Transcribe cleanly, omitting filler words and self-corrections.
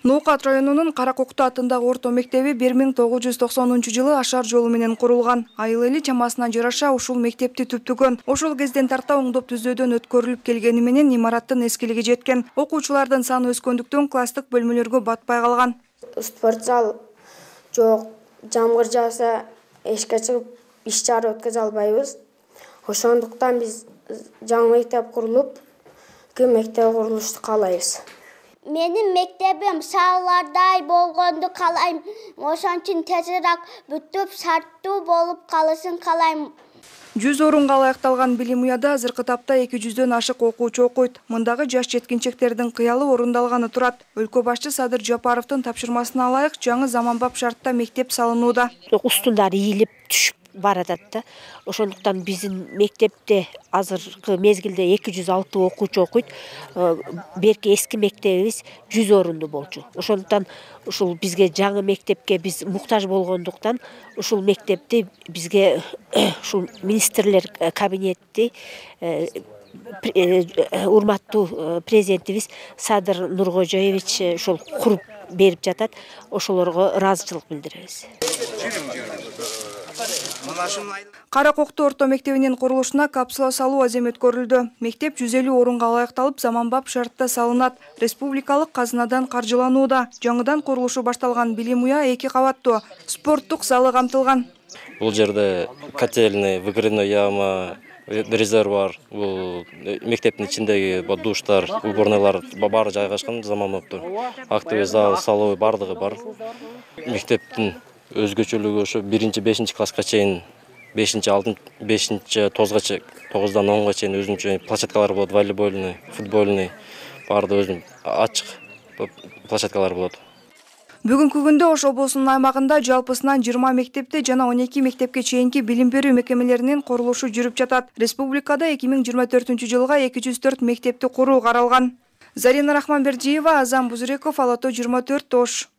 Ноокат районунун Каракокту атындагы орто мектеби 1990-жылы ашар жолу менен курулган. Айыл эли чамасына жараша ушул мектепти түптүгөн. Ошол кезден тарта оңдоп түзөөдөн өткөрүлүп келгени менен имараттын эскилиги жеткен. Окуучулардын саны өскөндүктөн класстык бөлмөлөргө батпай калган. Спорт зал жок, жамгыр жааса эшикке чыгып иш чара өткөзө албайбыз. Ошондуктан биз жаңы мектеп курулуп, мектеп курулушту каалайбыз. Менин мектебим шаарлардай болгонду каалайм. Ошон үчүн тезирээк бүтүп, сарттуу болуп калышын каалайм. 100 орунга ылайыкталган билим уяда азыркы тапта 200дөн ашык окуучу окуйт. Мындагы жаш жеткинчектердин кыялы орундалганы турат. Өлкө башчы Садыр Жапаровдун тапшырмасына ылайык жаңы заманбап шартта мектеп салынууда. Устундар ийилип түшүп баратат да. Ошондуктан биздин мектепте азыркы мезгилде 206 окуучу окуйт. Берки эски мектебибиз 100 орунду болчу. Ошондуктан ушул бизге жаңы мектепке биз муктаж болгондуктан ушул мектепти бизге ушул министрлер кабинети урматтуу президентибиз Садыр Нуркожоевич ошол куруп берип жатат. Ошолорго ыраазычылык билдиребиз. Каракокту орто мектебинин курулушуна капсула салуу азем өткөрүлдү. Мектеп 150 орунга ылайыкталып, заманбап шартта салынат. Республикалык казынадан каржыланууда. Жаңыдан курулушу башталган билим уя 2 кабаттуу. Спорттук залы камтылган. Бул жерде котельный, выгребной яма, резервуар, бул мектептин ичиндеги душтар, уборнойлар баары жайгашкан заманбаптуу. Актовый зал, салуу бардыгы бар. Мектептин өзгөчөлүгү ошо 1-5 класска чейин 5-6 тозгача 9-дан 10га чейин өзүнчө площадкалар болот, волейбольный, футбольный, баарды өзүнүн ачык площадкалар болот. Бүгүнкү күндө Ош облусунун аймагында жалпысынан 20 мектепте жана 12 мектепке чейинки билим берүү мекемелеринин курулушу жүрүп жатат. Республикада 2024-жылга 204 мектепти куруу каралган. Зарина Рахманбердиева, Азам Бузуреков, Ала-Тоо 24 Ош.